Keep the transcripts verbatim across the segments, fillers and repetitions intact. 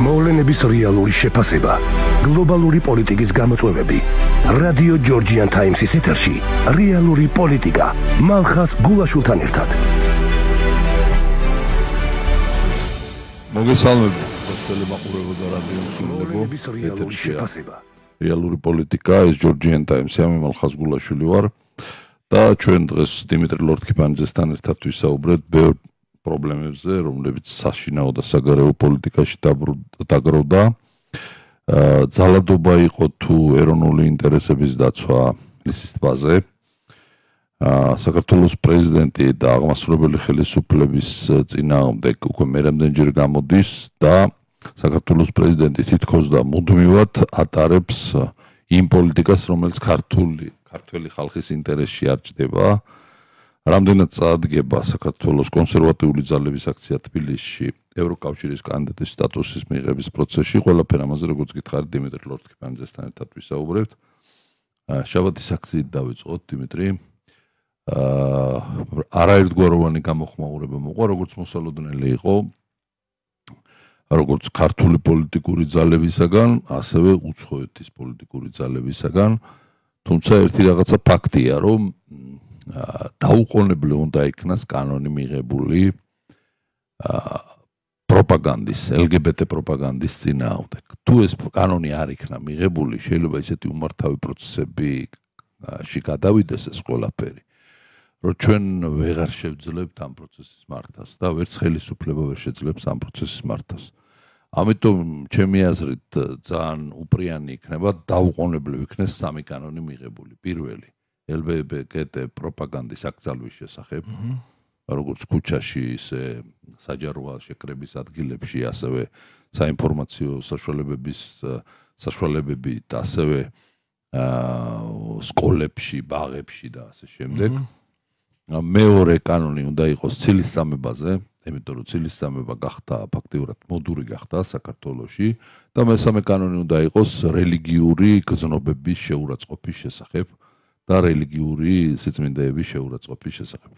მოვლენების რეალური შეფასება, გლობალური პოლიტიკის გამოწვევები. რადიო ჯორჯიან ტაიმსის ეთერში რეალური პოლიტიკა მალხას გულაშვილთან ერთად. მოგესალმებით, მოსწავლე მაყურებო და რადიო მოვლენების რეალური შეფასება. რეალური პოლიტიკა ეს ჯორჯიან ტაიმსი, ამი მალხას გულაშვილი ვარ და ჩვენ დღეს დიმიტრი ლორთქიფანიძესთან ერთად ვისაუბრეთ ბევრ პრობლემებზე, რომლებიც საშინაო და საგარეო პოლიტიკაში დაგროვდა. ძალადობა იყო თუ ეროვნული ინტერესების დაცვა ლისის ტბაზე. საქართველოს პრეზიდენტი და აღმასრულებელი ხელისუფლების წინააღმდეგ უკვე მერამდენჯერ გამოდის და საქართველოს პრეზიდენტი თითქოს და მუდმივად ატარებს იმ პოლიტიკას, რომელიც ქართული ქართველი ხალხის ინტერესში არ ჭდება. რამდენად წარადგება საქართველოს კონსერვატიული ძალების აქცია თბილისში ევროკავშირის კანდიდატის სტატუსის მიღების პროცესში, ყველაფერ ამაზე როგორც გითხარით დიმიტრი ლორთქიფანიძესთან ერთად ვისაუბრებთ. შაბათის აქციით დავიწყოთ, დიმიტრი. არაერთგვაროვანი გამოხმაურება მოყვა, როგორც მოსალოდნელი იყო, როგორც ქართული პოლიტიკური ძალებისაგან, ასევე უცხოეთის პოლიტიკური ძალებისაგან. თუმცა ერთი რაღაცა ფაქტია, რომ დაუყოვნებლივ უნდა იქნას კანონი მიღებული პროპაგანდის, ელგებეტე პროპაგანდის წინააღმდეგ. თუ ეს კანონი არ იქნა მიღებული, შეიძლება ისეთი უმართავი პროცესებში გადავიდეს ეს ყველაფერი, რომ ჩვენ ვეღარ შევძლებთ ამ პროცესის მართვას და ვერც ხელისუფლება ვერ შეძლებს ამ პროცესის მართვას. ამიტომ ჩემი აზრით ძალიან უპრიანი იქნება დაუყოვნებლივ იქნეს სამი კანონი მიღებული. პირველი ელგებეტე პროპაგანდის აკრძალვის შესახებ, როგორც ქუჩაში, ისე საჯარო შეკრების ადგილებში, ასევე საინფორმაციო საშუალებების საშუალებებით, ასევე სკოლებში, ბაღებში და ასე შემდეგ. მეორე კანონი უნდა იყოს ცილისწამებაზე, იმიტომ რომ ცილისწამება გახდა ფაქტიურად მოდური გახდა საქართველოში და მესამე კანონი უნდა იყოს რელიგიური გზნობების შეურაცხყოფის შესახებ და რელიგიური სიწმინდეების შეურაცხყოფის შესახებ.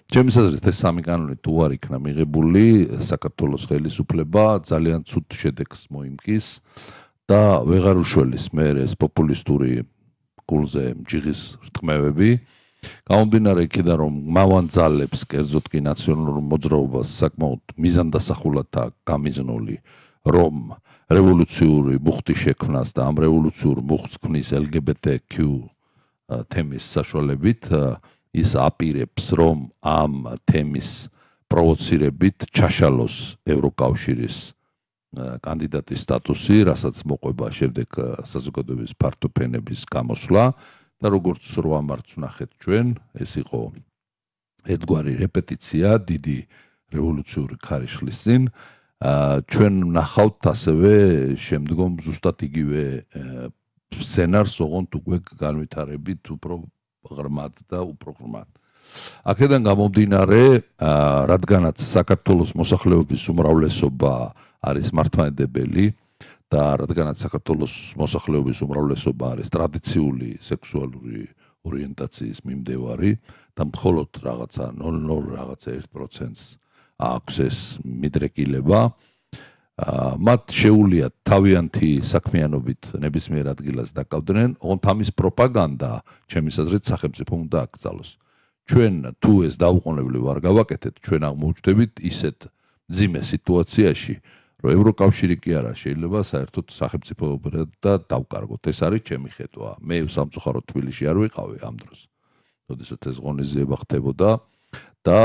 ჩემის აზრით ეს სამი კანონი თუ არ იქნა მიღებული, საქართველოს ხელისუფლება ძალიან ცუდ შედეგს მოიმკის და ვეღარ უშველის მე ეს პოპულისტური გულზე ჯიღის რტმევები. გამომდინარე იქიდან, რომ მავან ძალებს, კერძოდ კი ნაციონალურ მოძრაობას საკმაოდ მიზანდასახულად გამიზნული, რომ რევოლუციური მუხტი შექმნას და ამ რევოლუციურ მუხტს ქმნის ელგებეტე კიუ თემის საშუალებით, ის აპირებს, რომ ამ თემის პროვოცირებით ჩაშალოს ევროკავშირის კანდიდატის სტატუსი, რასაც მოყვება შემდეგ საზოგადოების ფართო ფენების გამოსვლა და როგორც რო ამართ ვნახეთ ჩვენ, ეს იყო ერთგვარი რეპეტიცია დიდი რევოლუციური ქარიშხლის წინ. ჩვენ ვნახავთ ასევე შემდგომ ზუსტად იგივე სცენარს, ოღონდ უკვე განვითარებით უფრო ღრმად და უფრო ღრმად. აქედან გამომდინარე, რადგანაც საქართველოს მოსახლეობის უმრავლესობა არის მართლმადიდებელი და რადგანაც საქართველოს მოსახლეობის უმრავლესობა არის ტრადიციული სექსუალური ორიენტაციის მიმდევარი და მხოლოდ რაღაცა ნულ ნულ რაღაცა ერთ პროცენტს აქვს ეს მიდრეკილება, მათ შეუულიათ თავიანთი საქმიანობით ნებისმიერ ადგილას დაკავდნენ, ოღონდ ამის პროპაგანდა, ჩემის აზრით, სახელმწიფო უნდა აკრძალოს. ჩვენ თუ ეს დაუყოვნებლივ არ გავაკეთეთ, ჩვენ აღმოჩნდებით ისეთ მძიმე სიტუაციაში, რომ ევროკავშირი კი არა შეიძლება საერთოდ სახელმწიფოებრივად და დავკარგოთ. ეს არის ჩემი ხედვა. მე სამწუხაროდ თბილისში არ ვიყავი ამ დროს, როდესაც ეს ღონისძიება ხდებოდა და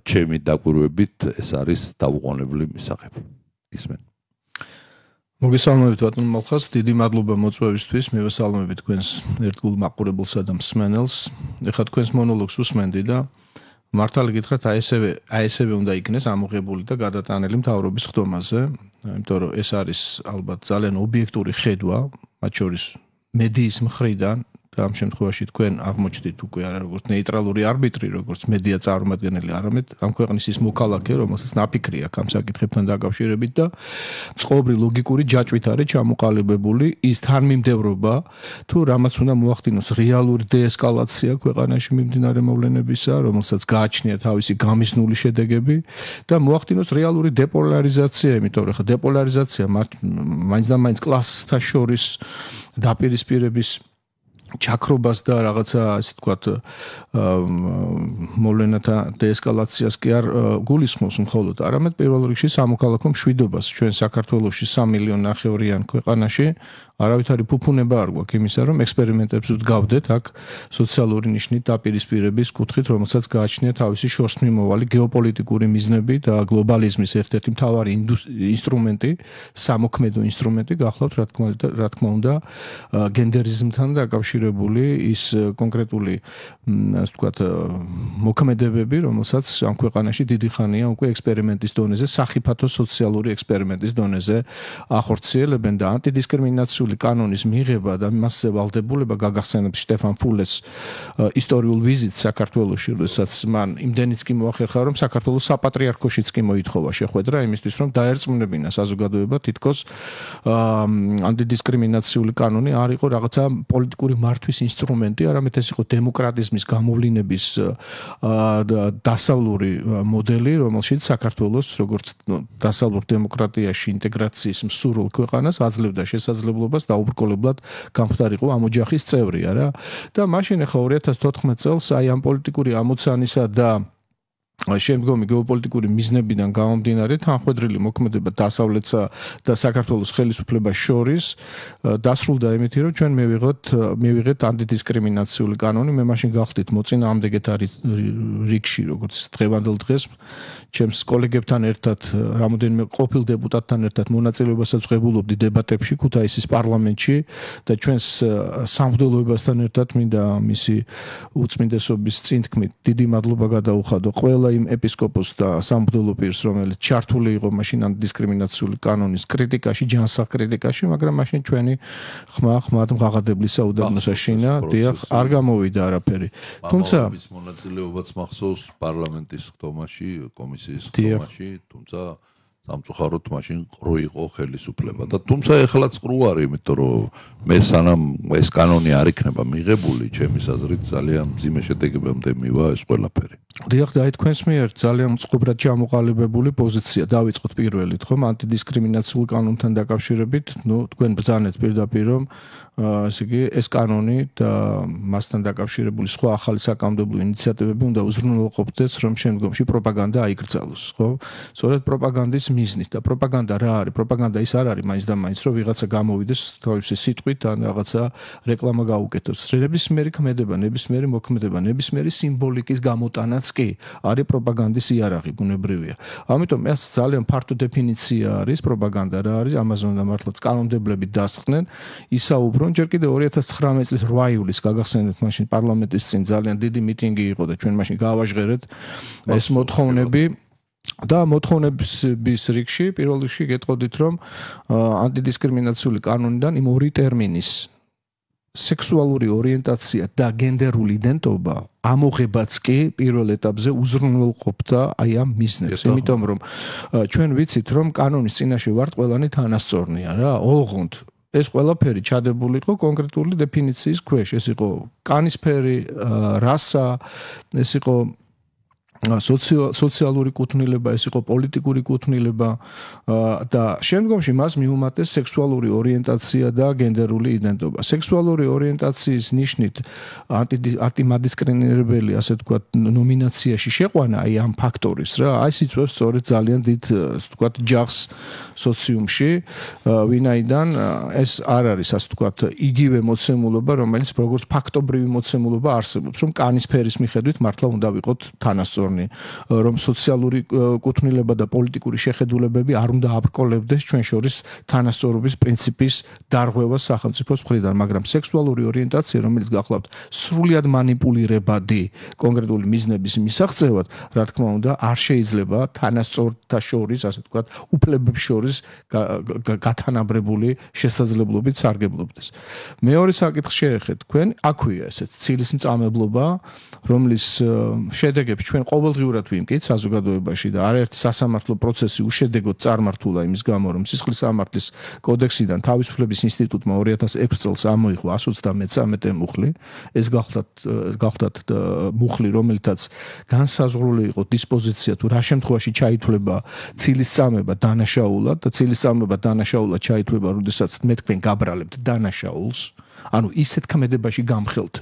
ჩემი დაკვირვებით ეს არის დაუყოვნებლივ მისაღებ. ისმენ. მოგესალმებით ბატონ მალხას, დიდი მადლობა მოწვევისთვის, მივესალმებით თქვენს ერთგულ მაყურებელსა და მსმენელს. ეხლა თქვენს მონოლოგს უსმენდი და მართალი გითხრათ, აი ესევე აი ესევე უნდა იქნეს ამოღებული და გადატანილი მთავრობის ხდომაზე, იმიტომ რომ ეს არის ალბათ ძალიან ობიექტური ხედვა, მათ შორის მედიის მხრიდან, და ამ შემთხვევაში თქვენ აღმოჩნდით უკვე არა როგორც ნეიტრალური არბიტრი, როგორც მედია წარმომადგენელი, არამედ ამ ქვეყნის ის მოქალაქე, რომელსაც ნაფიქრი აქვს ამ საკითხებთან დაკავშირებით და წყობრი ლოგიკური ჯაჭვით არის ჩამოყალიბებული ის თანმიმდევრობა, თუ რამაც უნდა მოახდინოს რეალური დეესკალაცია ქვეყანაში მიმდინარე მოვლენებისა, რომელსაც გააჩნია თავისი გამიზნული შედეგები და მოახდინოს რეალური დეპოლარიზაცია, იმიტომ რომ ხა დეპოლარიზაცია მაინც და მაინც კლასთა შორის დაპირისპირების ჩაქრობას და რაღაცა ასე ვთქვათ მოვლენათა დეესკალაციას კი არ გულისხმობს მხოლოდ, არამედ პირველ რიგში სამოქალაქო მშვიდობას ჩვენ საქართველოში სამი მილიონი ნახევრიან ქვეყანაში არავითარი ფუფუნება არ გვაქვს იმისა, რომ ექსპერიმენტებს ვდგავდეთ აქ სოციალური ნიშნით დაპირისპირების კუთხით, რომელსაც გააჩნია თავისი შორსმიმოვალი გეოპოლიტიკური მიზნები და გლობალიზმის ერთ-ერთი მთავარი ინსტრუმენტი, სამოქმედო ინსტრუმენტი გახლავთ რა თქმა უნდა, რა თქმა უნდა, გენდერიზმთან დაკავშირებული ის კონკრეტული, ასე ვთქვათ, მოქმედებები, რომელსაც ამ ქვეყანაში დიდი ხანია უკვე ექსპერიმენტის დონეზე, სახიფათო სოციალური ექსპერიმენტის დონეზე ახორციელებენ და ანტიდისკრიმინაციული კანონის მიღება და მასზე ვალდებულება გაგახსენებს შტეფან ფულეს ისტორიულ ვიზიტს საქართველოში, როდესაც მან იმდენიც კი მოახერხა, რომ საქართველოს საპატრიარქოშიც კი მოითხოვა შეხვედრა იმისთვის, რომ დაერწმუნებინა საზოგადოება თითქოს ანტიდისკრიმინაციული კანონი არ იყო რაღაცა პოლიტიკური მართვის ინსტრუმენტი, არამედ ეს იყო დემოკრატიზმის გამოვლინების დასავლური მოდელი, რომელშიც საქართველოს როგორც დასავლურ დემოკრატიაში ინტეგრაციის მსურველ ქვეყანას აძლევდა შესაძლებლობა დაუბრკოლებლად გამხდარიყო ამ ოჯახის წევრი არა და მაშინ ახლა ორი ათას თოთხმეტ წელს აი ამ პოლიტიკური ამოცანისა და შემდგომი გეოპოლიტიკური მიზნებიდან გამომდინარე თანხმედრილი მოქმედება დასავლეთსა და საქართველოს ხელისუფლებას შორის დასრულდა იმით, რომ ჩვენ მივიღოთ მივიღეთ ანტიდისკრიმინაციული კანონი, მე მაშინ გავხდით მოწინააღმდეგეთ არის რიგში, როგორც დღევანდელ დღეს ჩემს კოლეგებთან ერთად, რამოდენიმე ყოფილ დეპუტატთან ერთად მონაწილეობასაც ვღებულობდი დებატებში ქუთაისის პარლამენტში და ჩვენს სამღვდელოებასთან ერთად მინდა მისი უწმინდესობის წინთქმით დიდი მადლობა გადაუხადო ყველა იმ ეპისკოპოსს და სამღვდელო პირს, რომელიც ჩართული იყო მაშინ ანტიდისკრიმინაციული კანონის კრიტიკაში, ჯანსაღ კრიტიკაში, მაგრამ მაშინ ჩვენი ხმა ხმად მღაღადებლისა უდაბნოსა შინა, დიახ, არ გამოვიდა არაფერი. თუმცა მამაობის მონაწილეობაც მახსოვს პარლამენტის ხდომაში, კომისიის ხდომაში, თუმცა სამწუხაროდ მაშინ ყრუ იყო ხელისუფლება და თუმცა ეხლაც ყრუ არის, იმიტომ რომ მე სანამ ეს კანონი არ იქნება მიღებული, ჩემის აზრით ძალიან მძიმე შედეგებამდე მივა ეს ყველაფერი. დიახ, და აი თქვენს მიერ ძალიან მწყობრად ჩამოყალიბებული პოზიცია დავიწყოთ პირველით, ხომ, ანტიდისკრიმინაციულ კანონთან დაკავშირებით, ნუ თქვენ ბრძანეთ პირდაპირ, რომ ესე იგი ეს კანონი და მასთან დაკავშირებული სხვა ახალი საკანონმდებლო ინიციატივები უნდა უზრუნველყოფდეს, რომ შემდგომში პროპაგანდა აიკრძალოს, ხო? სწორედ პროპაგანდის მიზნით და პროპაგანდა რა არის? პროპაგანდა ის არ არის მაინც და მაინც, რომ ვიღაცა გამოვიდეს თავისი სიტყვით ან რაღაცა რეკლამა გაუკეთოს. ნებისმიერი ქმედება, ნებისმიერი მოქმედება, ნებისმიერი სიმბოლიკის გამოტანაც კი არის პროპაგანდის იარაღი, ბუნებრივია. ამიტომ ეს ძალიან ფართო დეფინიცია არის პროპაგანდა რა არის, ამაზე უნდა მართლაც კანონმდებლები დასხდნენ, ისაუბრონ. ჯერ კიდევ ორი ათას ცხრამეტ წლის რვა ივლისს გაგახსენებთ, მაშინ პარლამენტის წინ ძალიან დიდი მიტინგი იყო და ჩვენ მაშინ გავაჟღერეთ ეს მოთხოვნები. და მოთხოვნების რიგში პირველ რიგში გეტყოდით, რომ ანტიდისკრიმინაციული კანონიდან იმ ორი ტერმინის სექსუალური ორიენტაცია და გენდერული იდენტობა ამოღებაც კი პირველ ეტაპზე უზრუნველყოფდა აი ამ მიზნებს, იმიტომ რომ ჩვენ ვიცით, რომ კანონის წინაშე ვართ ყველანი თანასწორნია რა, ოღონდ ეს ყველაფერი ჩადებული იყო კონკრეტული დეფინიციის ქვეშ, ეს იყო კანისფერი, რასა, ეს იყო სოციალური კუთვნილება, ეს იყო პოლიტიკური კუთვნილება და შემდგომში მას მიუმატეს სექსუალური ორიენტაცია და გენდერული იდენტობა. სექსუალური ორიენტაციის ნიშნით ანტიმადისკრიმინირებელი, ასე ვთქვათ, ნომინაციაში შეყვანა აი ამ ფაქტორის რა, აი სიწვევს სწორედ ძალიან დიდ, ასე ვთქვათ, ჯახს სოციუმში, ვინაიდან ეს არ არის, ასე ვთქვათ, იგივე მოცემულობა, რომელიც როგორც ფაქტობრივი მოცემულობა არსებობს, რომ კანისფერის მიხედვით მართლა უნდა ვიყოთ თანასწორი თვალსაზროვნი, რომ სოციალური კუთვნილება და პოლიტიკური შეხედულებები არ უნდა აბრკოლებდეს ჩვენ შორის თანასწორობის პრინციპის დარღვევას სახელმწიფოს მხრიდან, მაგრამ სექსუალური ორიენტაცია, რომელიც გახლავთ სრულიად манипуლირებადი კონკრეტული მიზნების მისაღწევად, რა თქმა უნდა, არ შეიძლება თანასწორთა შორის, ასე ვთქვათ, უფლებებს შორის გათანაბრებული შესაძლებლობით სარგებლობდეს. მეორე საკითხს შეეხეთ თქვენ, აქვეა ესეც ცილის მწამებლობა, რომლის შედეგებს ჩვენ ყოველდღიურად ვიმკით საზოგადოებაში და არაერთი სასამართლო პროცესი უშედეგოდ წარმართულა იმის გამო, რომ სისხლის სამართლის კოდექსიდან თავისუფლების ინსტიტუტმა ორი ათას ექვსი წელს ამოიღო εκατს ოცდამეცამეტე მუხლი. ეს გახლავთ გახლავთ მუხლი, რომელთაც განსაზღვრული იყო დისპოზიცია თუ რა შემთხვევაში ჩაითვლება ცილის წამება დანაშაულად და ცილის წამება დანაშაულად ჩაითვლება, როდესაც მე თქვენ გაბრალებთ დანაშაულს, ანუ ისეთ ქმედებაში გამხელთ,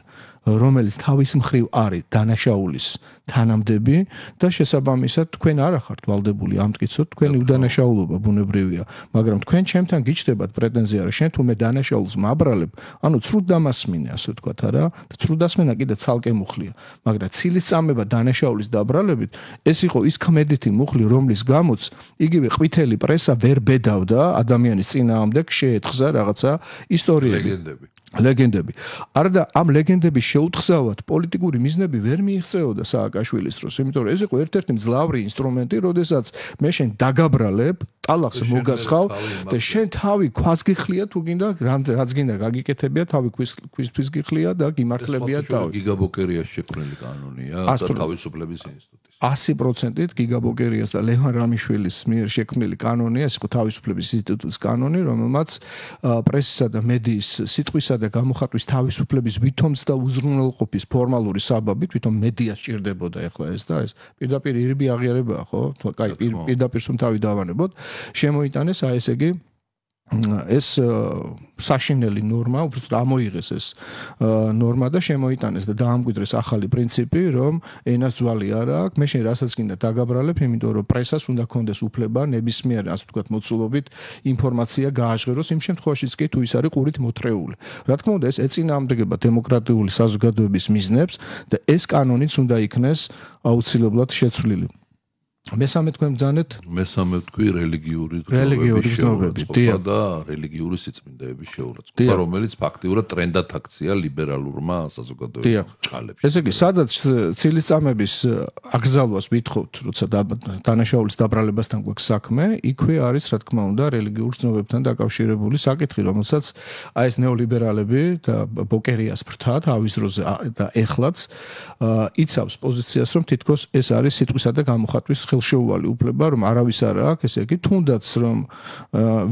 რომელიც თავის მხრივ არის დანაშაულის თანამდები და შესაბამისად თქვენ არ ახართ ვალდებული ამტკიცოთ, თქვენი უდანაშაულობა ბუნებრივია, მაგრამ თქვენ ჩემთან გიჩნდებათ პრეტენზია, რომ შენ თუ მე დანაშაულს მაბრალებ, ანუ ცრუდ დამასმინე, ასე ვთქვათ, არა? და ცრუდ დასმენა კიდე ცალკე მუხლია, მაგრამ ცილის წამება დანაშაულის დაბრალებით, ეს იყო ის ქმედითი მუხლი, რომლის გამოც იგივე ყვითელი პრესა ვერ ბედავდა ადამიანის წინააღმდეგ, შეეთხზა რაღაცა ისტორიები. ლეგენდები. ლეგენდები. არა და ამ ლეგენდების შეუთხზავად პოლიტიკური მიზნები ვერ მიიღწეოდა სააკაშვილის დროს, იმიტომ რომ ეს იყო ერთ-ერთი მძლავრი ინსტრუმენტი, როდესაც მე შენ დაგაბრალებ, ტალახს მოგასხავ და შენ თავი ქვას გიხლია თუ გინდა, რაც გინდა გაგიკეთებია, თავი ქვისთვის გიხლია და გიმართლებია თავი. გიგაბოკერიას შექმნილი კანონია და თავისუფლების ინსტიტუტის. ასი პროცენტით გიგაბოკერიას და ლევან რამიშვილის მიერ შექმნილი კანონია, ეს იყო თავისუფლების ინსტიტუტის კანონი, რომელმაც პრესისა და მედიის სიტყვისა და გამოხატვის თავისუფლების ვითომს და უზრუნველყოფის ფორმალური საბაბით, ვითომ მედია სჭირდებოდა ახლა ეს და ეს პირდაპირ ირიბი აღიარებაა, ხო? კაი, პირდაპირ სულ თავი დავანებოთ, შემოიტანეს აი ესე იგი ეს საშინელი ნორმა, უბრალოდ ამოიღეს ეს ნორმა და შემოიტანეს და დაამკვიდრეს ახალი პრინციპი, რომ ენას ძვალი არ აქვს, მე შენ რასაც გინდა დაგაბრალებ, იმიტომ რომ პრესას უნდა კონდეს უფლება ნებისმიერ, ასე ვთქვათ, მოცულობით ინფორმაცია გააჟღეროს იმ შემთხვევაშიც კი თუ ის არის ყურით მოთრეული. რა თქმა უნდა, ეს ეწინააღმდეგება დემოკრატიული საზოგადოების მიზნებს და ეს კანონიც უნდა იქნეს აუცილებლად შეცვლილი. მესამე თქვენ ბრძანეთ? მესამე თქვი რელიგიური რელიგიური გზნობები და რელიგიური სიწმინდეების შეურაცხყოფა, რომელიც ფაქტიურად ტრენდად აქცია ლიბერალურმა საზოგადოებამ ჭალებში. ესე იგი, სადაც ცილის წამების აკრძალვას ვითხოვთ, როცა დანაშაულის დაბრალებასთან გვაქვს საქმე, იქვე არის, რა თქმა უნდა, რელიგიურ გზნობებთან დაკავშირებული საკითხი, რომელსაც აი ეს ნეოლიბერალები და ბოკერიას ფრთა თავის დროზე და ეხლაც იცავს პოზიციას, რომ თითქოს ეს არის სიტყვისა და გამოხატვის ხელშეუვალი უფლება, რომ არავის არ აქვს, ესე იგი, თუნდაც რომ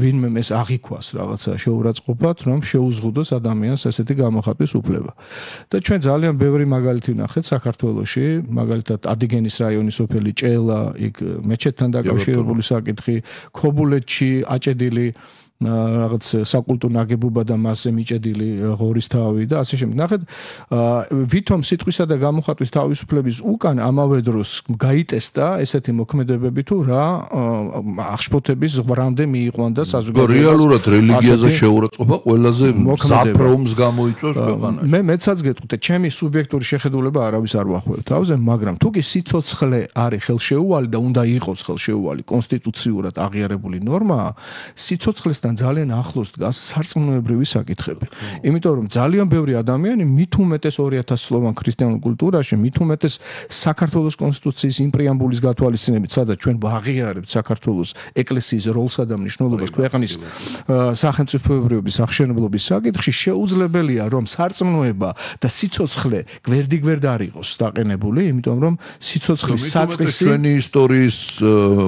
ვინმე ეს აღიქვას რაღაცა შეურაცხყოფად, რომ შეუზღუდოს ადამიანს ესეთი გამოხატვის უფლება. და ჩვენ ძალიან ბევრი მაგალითი ვნახეთ საქართველოში, მაგალითად ადიგენის რაიონის სოფელი ჭელა, იქ მეჩეთთან დაკავშირებული საკითხი, ქობულეთში აჭედილი რაღაც საკულტო ნაგებობა და მასზე მიჭედილი ღორის თავი და ასე შემდეგ. ნახეთ, ვითომ სიტყვისა და გამოხატვის თავისუფლების უკან ამავე დროს გაიტესტა ესეთი მოქმედებები თუ რა აღშფოთების ზღვრამდე მიიყვან და საზოგადოებას. რეალურად რელიგიაზე შეურაცხყოფა ყველაზე საფრთხეს გამოიწვევს ქვეყანაში. მე მეცაც გეტყვით, ჩემი სუბიექტური შეხედულება არავის არ ვახვევ თავზე, მაგრამ თუ კი სიცოცხლე არის ხელშეუვალი და უნდა იყოს ხელშეუვალი კონსტიტუციურად აღიარებული ნორმაა, სიცოცხლესთან ძალიან ახლოს დგას სარწმუნოებრივი საკითხები. იმიტომ რომ ძალიან ბევრი ადამიანი მით უმეტეს ორი ათას წლოვან ქრისტიანულ კულტურაში, მით უმეტეს საქართველოს კონსტიტუციის იმ პრეამბულის გათვალისწინებით, სადაც ჩვენ ვაღიარებთ საქართველოს ეკლესიის როლსა და მნიშვნელობას ქვეყნის სახელმწიფოებრიობის აღშენებლობის საკითხში, შეუძლებელია რომ სარწმუნოება და სიცოცხლე გვერდიგვერდ არ იყოს დაყენებული, იმიტომ რომ სიცოცხლის საწყისი ჩვენი ისტორიის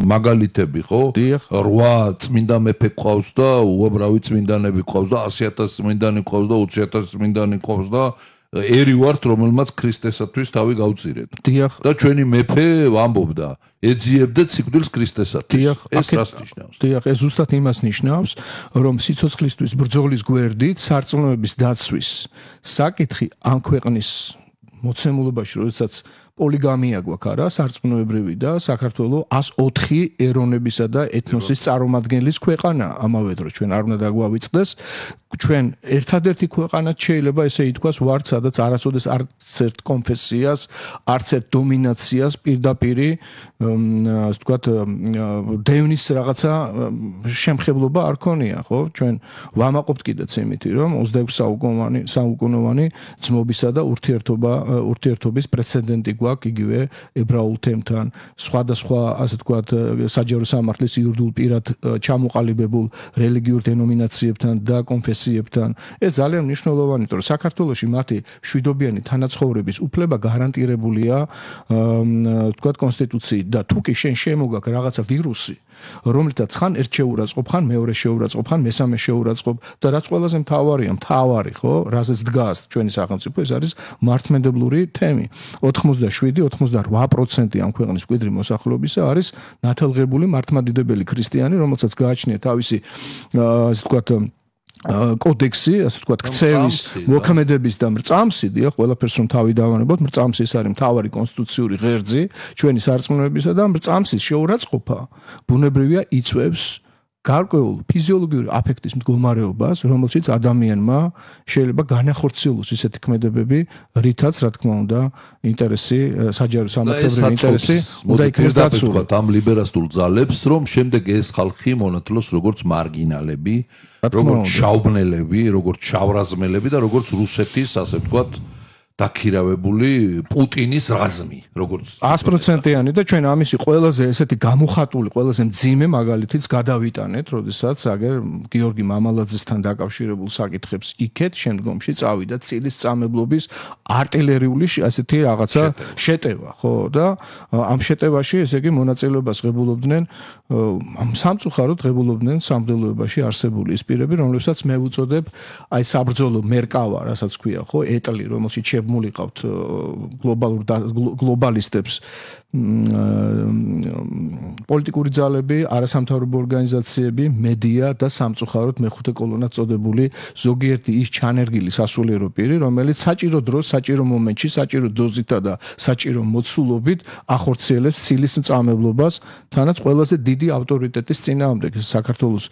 მაგალითები, ხო? რვა წმინდა მეფე ყავს და უამრავი წმინდანები ყავს და ასი ათასი წმინდანი ყავს და ოცი ათასი წმინდანი ყავს და ერი ვართ, რომელმაც ქრისტესათვის თავი გავწირეთ. და ჩვენი მეფე ამბობდა, ეძიებდეთ სიკვდილს ქრისტესათვის. ეს რას ნიშნავს? დიახ, ეს ზუსტად იმას ნიშნავს, რომ სიცოცხლისთვის ბრძოლის გვერდით სარწმუნოების დაცვის საკითხი ამ ქვეყნის მოცემულობაში, როდესაც პოლიგამია გვაქვს არა, სარწმუნოებრივი და საქართველოს ას ოთხი ეროვნებისა და ეთნოსის წარმომადგენლის ქვეყანა. ამავე დროს ჩვენ არ უნდა დაგვავიწყდეს, ჩვენ ერთადერთი ქვეყანაც შეიძლება ესე ითქვას ვართ, სადაც არასოდეს არც ერთ კონფესიას, არც ერთ დომინაციას პირდაპირი ასე ვთქვათ დევნის რაღაცა შემხებლობა არ ქონია, ხო? ჩვენ ვამაყობთ კიდეც იმითი, რომ ოცდაექვსი საუკუნოვანი საუკუნოვანი ძმობისა და ურთიერთობა ურთიერთობის პრეცედენტი გვაქვს იგივე ებრაულ თემთან, სხვადასხვა ასე ვთქვათ საჯარო სამართლის იურიდიულ პირად ჩამოყალიბებულ რელიგიურ დენომინაციებთან და კონფესიებთან. ეს ძალიან მნიშვნელოვანია, რომ საქართველოში მათი მშვიდობიანი თანაცხოვრების უფლება გარანტირებულია ვთქვათ კონსტიტუციით და თუ კი შენ შემოგაქვს რაღაცა ვირუსი, რომლითაც ხან ერთ შეურაცხყოფ, ხან მეორე შეურაცხყოფ, ხან მესამე შეურაცხყოფ და რაც ყველაზე მთავარია, მთავარი ხო, რაზეც დგას ჩვენი სახელმწიფო, ეს არის მართლმადებლური თემი. ოთხმოცდაშვიდი ოცდაოთხ პროცენტი ამ ქვეყნის მკვიდრი მოსახლეობისა არის ნათელღებული მართლმადიდებელი ქრისტიანი, რომელსაც გააჩნია თავისი ასე ვთქვათ კოდექსი, ასე ვთქვათ, ქცევის, მოქმედების და მრწამსი, დიახ, ყველაფერს რომ თავი დავანებოთ, მრწამსი ეს არის მთავარი კონსტიტუციური ღერძი ჩვენი სარწმუნოებისა და მრწამსის შეურაცხყოფა ბუნებრივია იწვევს გარკვეულ ფიზიოლოგიური აფექტის მდგომარეობას, რომელშიც ადამიანმა შეიძლება განახორციელოს ისეთი ქმედებები, რითაც, რა თქმა უნდა, ინტერესი, საჯარო სამართლებრივი ინტერესი უნდა იქნეს დაცული. ამ ლიბერალურ ძალებს, რომ შემდეგ ეს ხალხი მონათლოს როგორც მარგინალები, როგორც შაუბნელები, როგორც შავრაზმელები და როგორც რუსეთის, ასე ვთქვათ, დაქირავებული პუტინის რაზმი, როგორც ას პროცენტიანი და ჩვენ ამისი ყველაზე ესეთი გამოხატული, ყველაზე მძიმე მაგალითიც გადავიტანეთ, როდესაც აგერ გიორგი მამალაძესთან დაკავშირებულ საკითხებს იქეთ, შემდგომში წავიდა ცილის წამებლობის артиლერიული ასეთი რაღაცა შეტევა, ხო და ამ შეტევაში ესე იგი მონაწილეობას ღებულობდნენ სამწუხაროდ ღებულობდნენ სამღვდელოებაში არსებული ის პირები, რომლებსაც მე ვუწოდებ აი საბრძოლო მერკავა, რასაც ქვია, ხო, ეტლი, რომელშიც მულიყავთ გლობალურ გლობალისტებს პოლიტიკური ძალები, არასამთავრობო ორგანიზაციები, მედია და სამწუხაროდ მეხუთე კოლონად წოდებული ზოგიერთი ის ჩანერგილი სასულიერო პირი, რომელიც საჭირო დროს, საჭირო მომენტში, საჭირო დოზითა და საჭირო მოცულობით ახორციელებს ცილის მწამებლობას, თანაც ყველაზე დიდი ავტორიტეტის წინააღმდეგ, საქართველოს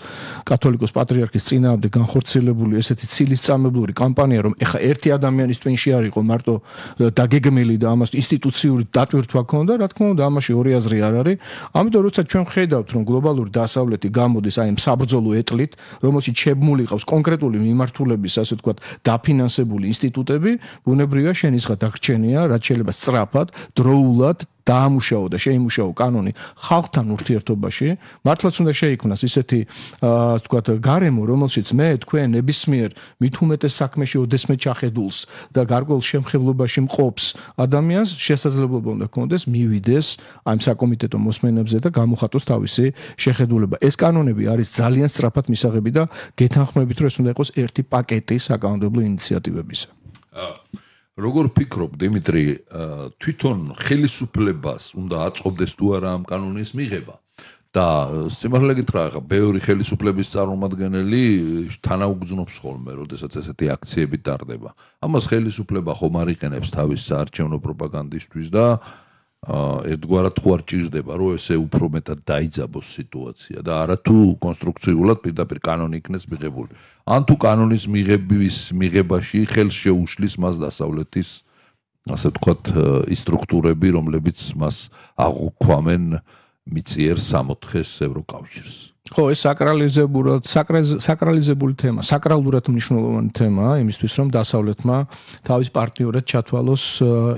კათოლიკოს პატრიარქის წინააღმდეგ განხორციელებული ესეთი ცილის მწამებლური კამპანია, რომ ეხა ერთი ადამიანის ტვინში არ იყო მარტო დაგეგმილი და ამას ინსტიტუციური დატვირთვა ჰქონდა, რა თქმა უნდა, ამაში ორი აზრი არ არის. ამიტომ როცა ჩვენ ხედავთ, რომ გლობალური დასავლეთი გამოდის აი ამ საბრძოლო ეტლით, რომელშიც შემმული ყავს კონკრეტული მიმართულების, ასე ვთქვათ, დაფინანსებული ინსტიტუტები, ბუნებრივია შენიშნა დაგრჩენია, რაც შეიძლება სწრაფად, დროულად დაამუშაო და შეიმუშაო კანონი ხალხთან ურთიერთობაში, მართლაც უნდა შეიქმნას ისეთი, ასე ვთქვათ, გარემო, რომელშიც მე თქვენ ნებისმიერ მით უმეტეს საქმეში ოდესმე ჩახედულს და გარკვეულ შემხებლობაში მყოფს ადამიანს შესაძლებლობა უნდა ჰქონდეს მივიდეს ამ საკომიტეტო მოსმენებზე და გამოხატოს თავისი შეხედულება. ეს კანონები არის ძალიან სწრაფად მისაღები და გეთანხმებით, რომ ეს უნდა იყოს ერთი პაკეტი საკანონმდებლო ინიციატივებისა. როგორ ფიქრობ, დიმიტრი, თვითონ ხელისუფლებას უნდა აწყობდეს თუ არა ამ კანონის მიღება? და სიმართლე გითხრა, ხა ბევრი ხელისუფლების წარმომადგენელი თანაუგრძნობს ხოლმე, როდესაც ესეთი აქციები ტარდება. ამას ხელისუფლება ხომ არ იყენებს თავის საარჩევნო პროპაგანდისთვის და ერთგვარად თუ არ ჭირდება, რომ ესე უფრო მეტად დაიძაბოს სიტუაცია და არა თუ კონსტრუქციულად პირდაპირ კანონი იქნეს მიღებული. ან თუ კანონის მიღების მიღებაში ხელს შეუშლის მას დასავლეთის, ასე ვთქვათ, ის სტრუქტურები, რომლებიც მას აღუქვამენ მიწიერ სამოთხეს ევროკავშირს. ხო, ეს საკრალიზებურად, საკრალიზებული თემა, საკრალურად მნიშვნელოვანი თემაა იმისთვის, რომ დასავლეთმა თავის პარტნიორად ჩათვალოს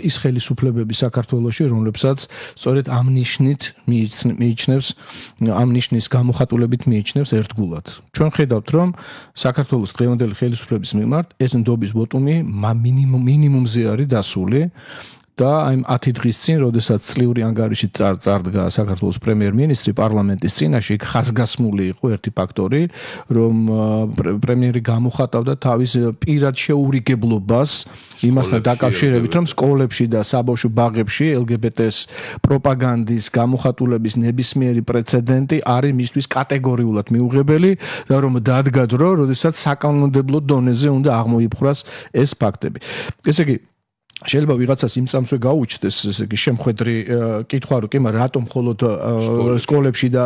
ის ხელისუფლებები საქართველოში, რომლებსაც სწორედ ამ ნიშნით მიიჩნევს, ამ ნიშნის გამოხატულებით მიიჩნევს ერთგულად. ჩვენ ხედავთ, რომ საქართველოს დღევანდელი ხელისუფლების მიმართ ეს ნდობის ვოტუმი მინიმუმზე არის დასული. და აი ათი დღის წინ, როდესაც წლიური ანგარიში წარდგა საქართველოს პრემიერ-მინისტრი პარლამენტის წინაშე, იქ ხაზგასმული იყო ერთი ფაქტორი, რომ პრემიერი გამოხატავდა თავის პირად შეურიგებლობას იმასთან დაკავშირებით, რომ სკოლებში და საბავშვო ბაღებში ელ გი ბი ტე-ს პროპაგანდის გამოხატულების ნებისმიერი პრეცედენტი არის მისთვის კატეგორიულად მიუღებელი და რომ დადგა დრო, როდესაც საკანონმდებლო დონეზე უნდა აღმოიფხვრას ეს ფაქტები. ესე იგი შეიძლება ვიღაცას იმ წამსვე გაუჩნდეს ესე იგი შემხედრი კითხვა რომ კი მაგრამ რატომ მხოლოდ სკოლებში და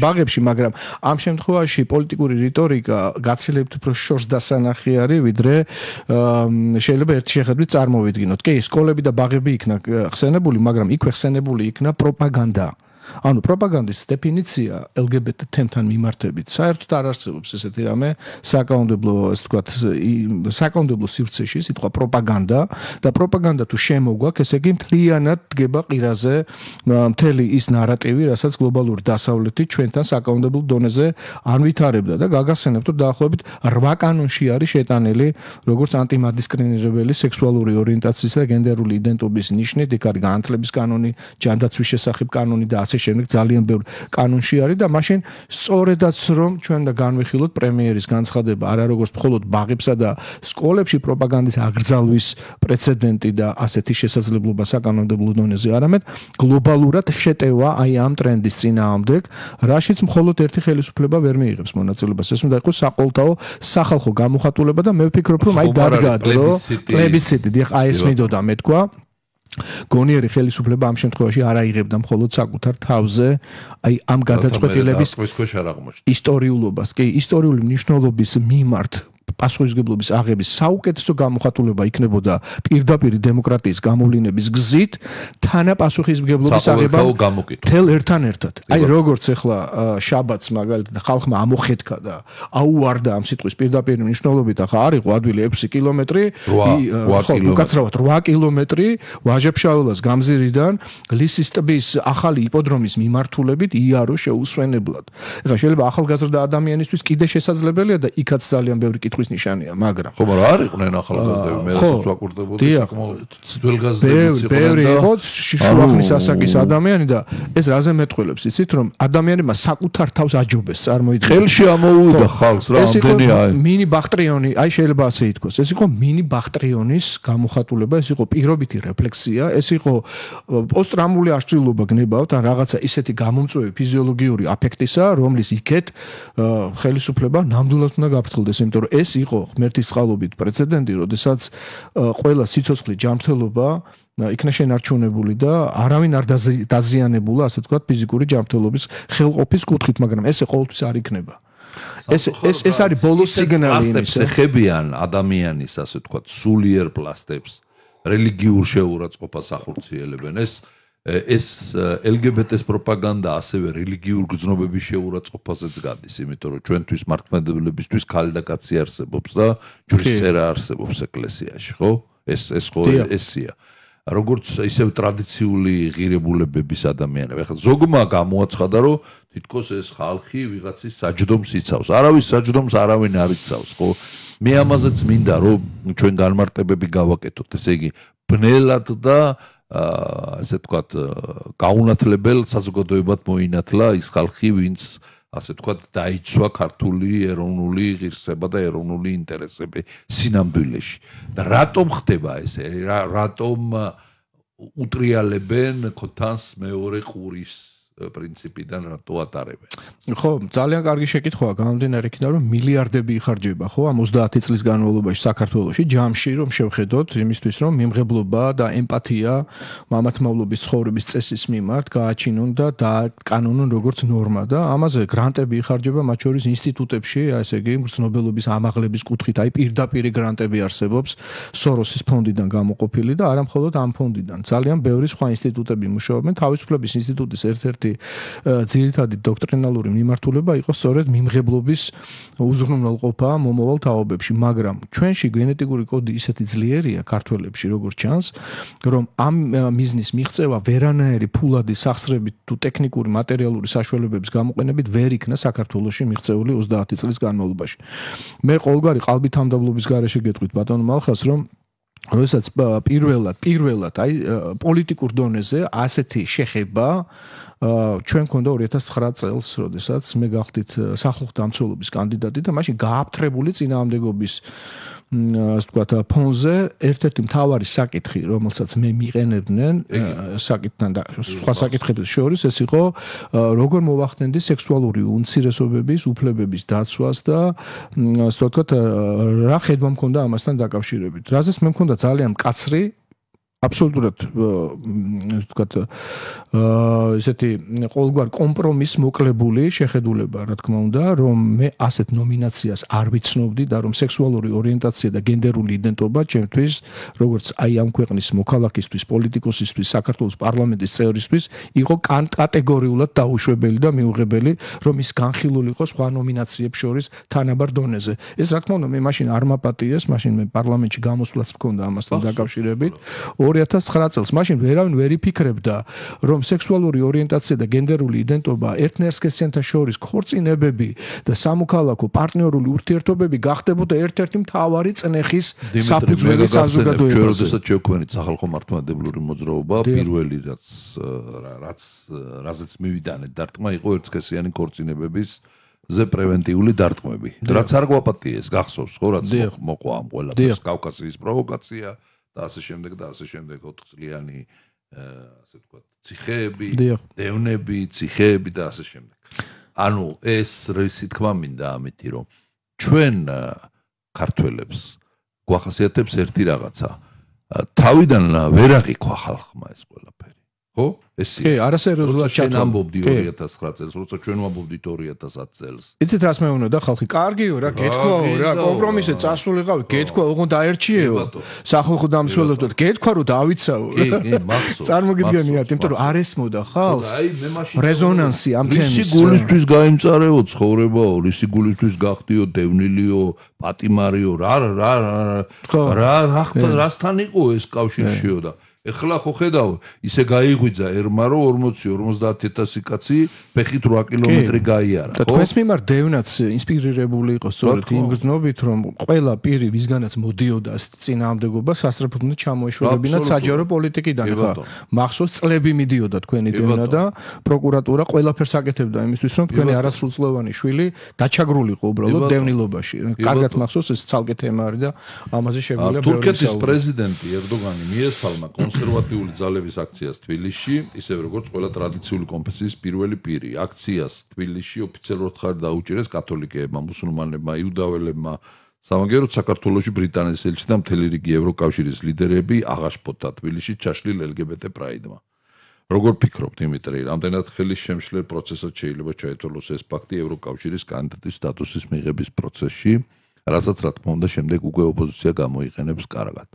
ბაღებში მაგრამ ამ შემთხვევაში პოლიტიკური რიტორიკა გაცილებით უფრო შორს დასანახი არის ვიდრე შეიძლება ერთი შეხედვით წარმოვიდგინოთ კი სკოლები და ბაღები იქნა ხსენებული მაგრამ იქვე ხსენებული იქნა პროპაგანდა ანუ პროპაგანდის დეფინიცია ელ გი ბი ტი თემთან მიმართებით საერთოდ არ არსებობს ესეთი რამე საკანონმდებლო ესე ვთქვათ საკანონმდებლო სივრცეში სიტყვა პროპაგანდა და პროპაგანდა თუ შემოგვაქვს ესე იგი მთლიანად დგება ყირაზე მთელი ის ნარატივი რასაც გლობალური დასავლეთი ჩვენთან საკანონმდებლო დონეზე არ ვითარებდა და გაგახსენებთ რომ დაახლოებით რვა კანონში არის შეტანილი როგორც ანტიმადისკრიმინირებელი სექსუალური ორიენტაციის და გენდერული იდენტობის ნიშნით იქ არის განათლების კანონი ჯანდაცვის შესახებ კანონი და შემდეგ ძალიან ბევრი კანონში არის და მაშინ სწორედაც რომ ჩვენ და განვიხილოთ პრემიერის განცხადება არა როგორც მხოლოდ ბაღებსა და სკოლებში პროპაგანდის აკრძალვის პრეცედენტი და ასეთი შესაძლებლობა საკანონმდებლო დონეზე არამედ გლობალურად შეტევა აი ამ ტრენდის წინააღმდეგ რაშიც მხოლოდ ერთი ხელისუფლება ვერ მიიღებს მონაწილეობას ეს უნდა იყოს საყოველთაო სახალხო გამოხატულება და მე ვფიქრობ რომ აი დადგა რომ პლებისციტი დიახ აი ეს მინდოდა მეთქვა გონიერი ხელისუფლება ამ შემთხვევაში არ აიღებდა მხოლოდ საკუთარ თავზე აი ამ გადაწყვეტილების ისტორიულობას კი ისტორიული მნიშვნელობის მიმართ პასუხისმგებლობის აღების საუკეთესო გამოხატულება იქნებოდა პირდაპირ დემოკრატიის გამოვლინების გზით თანაპასუხისმგებლობის აღება თელ ერთთან ერთად აი როგორც ახლა შაბათს მაგალითად ხალხმა ამოხეთქა და აუვარდა ამ სიტყვის პირდაპირ მნიშვნელობით ახლა არ იყო ადვილი ექვსი კილომეტრი ხო უკაცრავად რვა კილომეტრი ვაჟებშაველას გამზირიდან გლისის ტბის ახალი იპოდრომის მიმართულებით იარო შეუსვენებლად ეხლა შეიძლება ახალგაზრდა ადამიანისთვის კიდე შესაძლებელია და იქაც ძალიან ბევრი კითხვის ნიშანია, მაგრამ ხო, მაგრამ არ იყვნენ ახალგაზრდები, მე რასაც ვაკურდებოდი, საკმაოდ ძველგაზრდები იყვნენ. ბევრი იყო შუახნის ასაკის ადამიანი და ეს რაზე მეტყველებს, იცით, რომ ადამიანებმა საკუთარ თავს აჯობეს, წარმოიდგინეთ. ხელში ამოუვიდა ხალხს რა ამდენია. მინი ბახტრიონი, აი შეიძლება ასე ითქვას, ეს იყო მინი ბახტრიონის გამოხატულება, ეს იყო პირობითი რეფლექსია, ეს იყო პოსტტრაუმული აღჭურვილობა გნებავთ ან რაღაცა ისეთი გამომწვევი ფიზიოლოგიური აფექტისა, რომლის იქეთ ხელისუფლება ნამდვილად უნდა გაფრთხილდეს, იმიტომ რომ ეს იყო ღმერთის წყალობით პრეცედენტი, როდესაც ყველა სიცოცხლე ჯანმრთელობა იქნა შენარჩუნებული და არავინ არ დაზიანებულა, ასე ვთქვათ, ფიზიკური ჯანმრთელობის ხელყოფის კუთხით, მაგრამ ესე ყოველთვის არ იქნება. ეს ეს ეს არის ბოლოს სიგნალი იმისა. ხებიან ადამიანის, ასე ვთქვათ, სულიერ პლასტებს, რელიგიურ შეურაცხყოფას ახორციელებენ. ეს ეს ელ გი ბი ტის პროპაგანდა ასევე რელიგიურ გრძნობების შეურაცხყოფასაც გადის, იმიტომ რომ ჩვენთვის მართლმადიდებლებისთვის ქალი და კაცი არსებობს და ჯვრის წერა არსებობს ეკლესიაში, ხო? ეს ეს ხო ესია. როგორც ისევ ტრადიციული ღირებულებების ადამიანები. ახლა ზოგმა გამოაცხადა, რომ თითქოს ეს ხალხი ვიღაცის საჯდომს იცავს. არავის საჯდომს არავინ არ იცავს, ხო? მე ამაზეც მინდა, რომ ჩვენ განმარტებები გავაკეთოთ, ესე იგი, ბნელად და ასე ვთქვათ, გაუნათლებელ საზოგადოებად მოინათლა ის ხალხი, ვინც ასე ვთქვათ, დაიცვა ქართული ეროვნული ღირსება და ეროვნული ინტერესები სინამდვილეში. და რატომ ხდება ესე? რატომ უტრიალებენ ქოთანს მეორე ყურის პრინციპიდან რატო ატარებენ? ხო, ძალიან კარგი შეკითხვაა, გამომდინარე იქიდან, რომ მილიარდები იხარჯება, ხო, ამ ოცდაათი წლის განმავლობაში საქართველოში ჯამში, რომ შევხედოთ იმისთვის, რომ მიმღებლობა და ემპათია მამათმავლობის ცხოვრების წესის მიმართ გააჩინონ და დააკანონონ როგორც ნორმა და ამაზე გრანტები იხარჯება, მათ შორის ინსტიტუტებში, ესე იგი, მგრძნობელობის ამაღლების კუთხით, აი პირდაპირ გრანტები არსებობს სოროსის ფონდიდან გამოყოფილი და არა მხოლოდ ამ ფონდიდან. ძალიან ბევრი სხვა ინსტიტუტები მუშაობენ, თავისუფლების ინსტიტუტის ერთ-ერთი ძირითადი დოქტრინალური მიმართულება იყო სწორედ მიმღებლობის უზრუნველყოფა მომავალ თაობებში, მაგრამ ჩვენში გენეტიკური კოდი ისეთი ძლიერია ქართველებში, როგორც ჩანს, რომ ამ მიზნის მიღწევა ვერანაირი ფულადი სახსრებით თუ ტექნიკური მატერიალური საშუალებების გამოყენებით ვერ იქნა საქართველოში მიღწეული ოცდაათი წლის განმავლობაში. მე ყოველგვარი ყალბითამდაბლობის გარეშე გეტყვით ბატონო მალხას, რომ როდესაც პირველად, პირველად აი პოლიტიკურ დონეზე ასეთი შეხება ჩვენ გქონდა ორი ათას ცხრა წელს, როდესაც მე გავხდით სახალხო დამცველობის კანდიდატი და მაშინ გააფთრებული წინააღმდეგობის ასე ვთქვათ ფონზე ერთ-ერთი მთავარი საკითხი, რომელსაც მე მიყენებდნენ საკითხთან და სხვა საკითხებს შორის ეს იყო როგორ მოვახდენდი სექსუალური უმცირესობების უფლებების დაცვას და ასე ვთქვათ რა ხედვა მქონდა ამასთან დაკავშირებით. რაზეც მე მქონდა ძალიან მკაცრი აბსოლუტურად ვთქვათ ესეთი ყოველგვარ კომპრომისს მოკლებული შეხედულება, რა თქმა უნდა, რომ მე ასეთ ნომინაციას არ ვიცნობდი და რომ სექსუალური ორიენტაცია და გენდერული იდენტობა ჩემთვის, როგორც აი ამ ქვეყნის მოქალაქისთვის, პოლიტიკოსისთვის, საქართველოს პარლამენტის წევრისთვის, იყო კატეგორიულად დაუშვებელი და მიუღებელი, რომ ის განხილული იყო სხვა ნომინაციებს შორის თანაბარ დონეზე. ეს რა თქმა უნდა მე მაშინ არ მაპატიეს, მაშინ მე პარლამენტში გამოსვლაც მქონდა ამასთან დაკავშირებით. ორი ათას ცხრა წელს მაშინ ვერავინ ვერ იფიქრებდა, რომ სექსუალური ორიენტაცია და გენდერული იდენტობა ერთნაირსკესიანთა შორის ქორწინებები და სამოქალაქო პარტნიორული ურთიერთობები გახდებოდა ერთ-ერთი მთავარი წნეხის საფუძველი საზოგადოებაზე. ჩვენ როდესაც შევქმნით სახალხო მართლმადიდებლური მოძრაობა, პირველი რაც რაც რაზეც მივიდანეთ დარტყმა იყო ერთსქესიანი ქორწინებების ზე პრევენტიული დარტყმები. რაც არ გვაპატიეს, გახსოვს ხო, რაც მოყვა ამ ყველაფერს კავკასიის პროვოკაცია და ასე შემდეგ და ასე შემდეგ ოთხწლიანი ასე ვთქვათ, ციხეები, დევნები, ციხეები და ასე შემდეგ. ანუ ეს რისი თქმა მინდა ამითი, რომ ჩვენ ქართველებს გვახასიათებს ერთი რაღაცა. თავიდან ვერ აღიქვა ხალხმა ეს ყველაფერი. ხო? ეს კი, არასერიოზულად ჩვენ ამბობდი ორი ათას ცხრა წელს, როცა ჩვენ ვამბობდით ორი ათას ათ წელს. იცით რას მეუბნებოდა და ხალხი, კარგიო რა, გეთქვაო რა, კომპრომისზე წასულიყავი, გეთქვა, ოღონდ დაერჩიეო. სახალხო დამცველებთან გეთქვა რომ დავიცაო. კი, კი, მახსოვს. წარმოგიდგენიათ, იმიტომ რომ არ ესმოდა ხალხს. აი, მე მაშინ რეზონანსი ამ თემის. რისი გულისთვის გაიმწარეო ცხოვრებაო, რისი გულისთვის გახდიო, დევნილიო, პატიმარიო, რა რა რა რა რასთან იყო ეს კავშირშიო და ეხლა ხო ხედავ, ისე გაიღვიძა ერმა რომ ორმოცი ორმოცდაათ ათასი კაცი ფეხით რვა კილომეტრი გაიარა, ხო? და თქვენს მიმართ დევნაც ინსპირირებული იყო სწორედ იმ გრძნობით, რომ ყველა პირი ვისგანაც მოდიოდა ასეთ წინააღმდეგობა სასწრაფოდ უნდა ჩამოეშველებინათ საჯარო პოლიტიკიდან. ხა მახსოვს წლები მიდიოდა თქვენი დევნა და პროკურატურა ყველაფერს აკეთებდა იმისთვის, რომ თქვენი არასრულწლოვანი შვილი დაჩაგრულიყო უბრალოდ დევნილობაში. კარგად მახსოვს ეს ცალკე თემა არის და ამაზე შეგვიძლია ბევრი თურქეთის პრეზიდენტი ერდოგანი მიესალმა კონსერვატიული ძალების აქციას თბილისში, ისევ როგორც ყველა ტრადიციული კონფესიის პირველი პირი. აქციას თბილისში ოფიციალურად ხარ დაუჭირეს კათოლიკეებმა, მუსულმანებმა, იუდაველებმა. სამაგეროდ საქართველოში ბრიტანეთის ელჩი და მთელი რიგი ევროკავშირის ლიდერები აღაშფოთა თბილისში ჩაშლილ ელ გი ბე ტე პრაიდმა. როგორ ფიქრობ, დიმიტრი, რამდენად ხელის შემშლელ პროცესად შეიძლება ჩაეთვალოს ეს ფაქტი ევროკავშირის კანდიდატის სტატუსის მიღების პროცესში, რასაც რა თქმა უნდა შემდეგ უკვე ოპოზიცია გამოიყენებს კარგად.